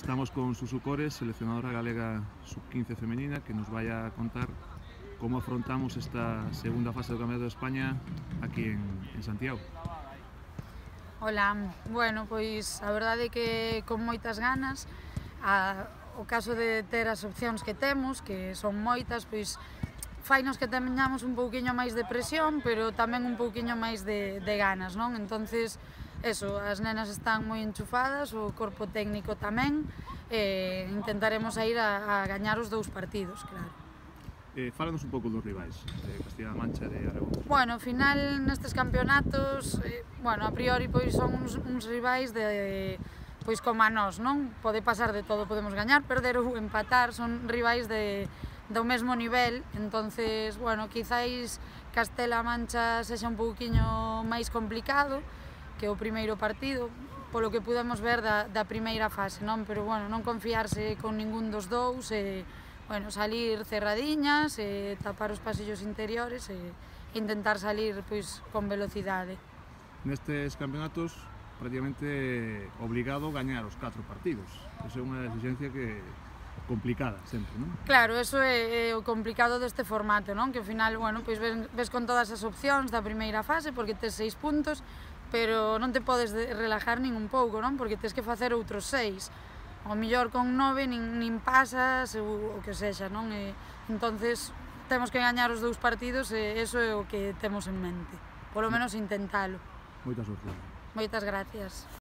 Estamos con Susu Cores, seleccionadora galega sub-15 femenina, que nos vai a contar como afrontamos esta segunda fase do Campeonato de España aquí en Santiago. Ola, bueno, pois a verdade é que con moitas ganas, o caso de ter as opcións que temos, que son moitas, pois fainos que teñamos un pouquiño máis de presión, pero tamén un pouquiño máis de ganas, non? Entonces, eso, as nenas están moi enchufadas, o corpo técnico tamén, intentaremos ir a gañar os dous partidos, claro. Fálanos un pouco dos rivais, de Castilla-La Mancha e de Aragón. Bueno, ao final, nestes campeonatos, a priori, pois son uns rivais pois como a nós, non? Pode pasar de todo, podemos gañar, perder ou empatar, son rivais do mesmo nivel, entonces, bueno, quizáis Castela Mancha sexa un pouquiño máis complicado que o primeiro partido, polo que pudemos ver da primeira fase, non? Pero, bueno, non confiarse con ningún dos dous, salir cerradiñas, tapar os pasillos interiores e intentar salir pois con velocidade. Nestes campeonatos, prácticamente obligado a gañar os 4 partidos. Esa é unha exigencia complicada sempre, non? Claro, eso é o complicado deste formato, non? Que ao final, bueno, pois ves con todas as opcións da primeira fase porque tes 6 puntos, pero non te podes relajar nin un pouco, non? Porque tes que facer outros 6. Ao mellor con 9 nin pasas, o que sexa, non? Entonces, temos que gañar os dous partidos e eso é o que temos en mente. Polo menos intentalo. Moita sorte. Moitas gracias.